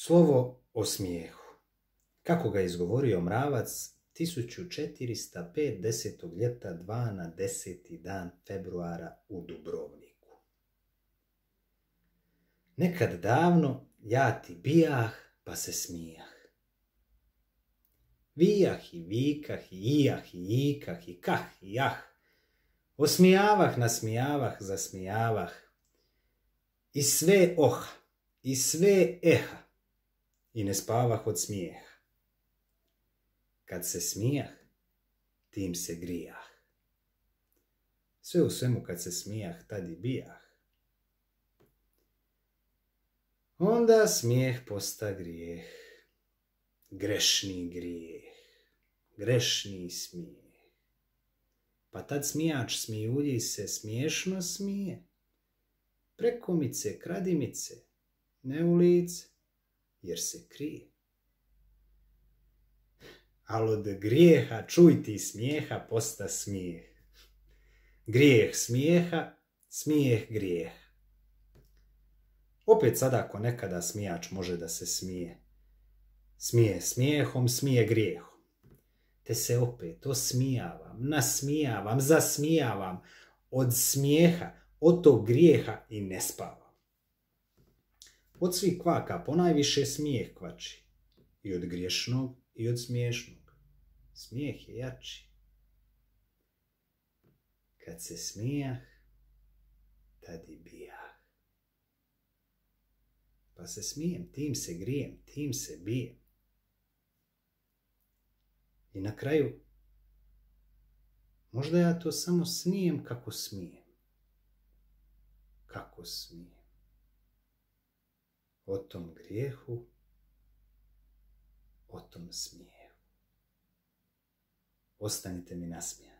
Slovo o smijehu. Kako ga izgovorio Mravac 1405. 10. ljeta 2 na 10. dan februara u Dubrovniku. Nekad davno ja ti bijah pa se smijah. Vijah i vikah i ijah i ikah i kah i jah. Osmijavah, nasmijavah, zasmijavah. I sve oha, i sve eha. I ne spavah od smijeha. Kad se smijah, tim se grijah. Sve u svemu kad se smijah, tad i bijah. Onda smijeh posta grijeh. Grešni grijeh. Grešni smijeh. Pa tad smijač smijulji se smiješno smije. Prekomice, kradimice, ne u lice, jer se krije. Al od grijeha, čuj ti smijeha, posta smijeh. Grijeh smijeha, smijeh grijeha. Opet sada ako nekada smijač može da se smije. Smije smijehom, smije grijehom. Te se opet osmijavam, nasmijavam, zasmijavam od smijeha, od tog grijeha i ne spavam. Od svih kvaka ponajviše smijeh kvači. I od griješnog i od smiješnog. Smijeh je jači. Kad se smijah, tad i bijah. Pa se smijem, tim se grijem, tim se bijem. I na kraju, možda ja to samo snijem kako smijem. Kako smijem. O tom grijehu, o tom smijehu. Ostanite mi nasmijani.